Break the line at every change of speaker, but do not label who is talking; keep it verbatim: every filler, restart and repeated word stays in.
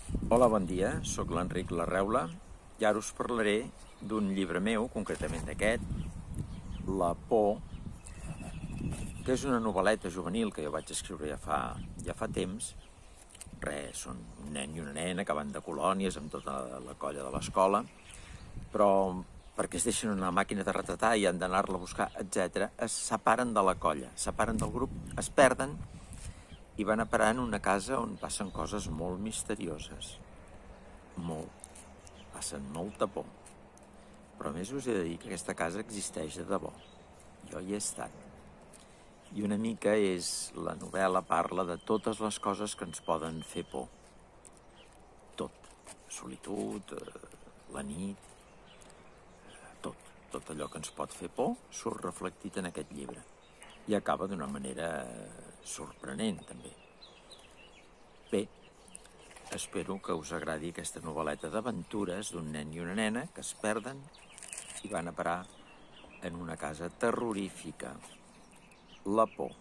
Hola, bon dia, sóc l'Enric Larreula i ara us parlaré d'un llibre meu, concretament d'aquest, La por, que és una novel·leta juvenil que jo vaig escriure ja fa, ja fa temps. Res, són un nen i una nena que van de colònies amb tota la colla de l'escola, però perquè es deixen una màquina de retratar i han d'anar-la a buscar, etcètera, es separen de la colla, es separen del grup, es perden i van a parar en una casa on passen coses molt misterioses. Molt. Passen molta por. Però a més us he de dir que aquesta casa existeix de debò. Jo hi he estat. I una mica és... la novel·la parla de totes les coses que ens poden fer por. Tot. Solitud, la nit, tot. Tot allò que ens pot fer por surt reflectit en aquest llibre. I acaba d'una manera sorprenent, també. Bé, espero que us agradi aquesta novel·leta d'aventures d'un nen i una nena que es perden i van a parar en una casa terrorífica. La por.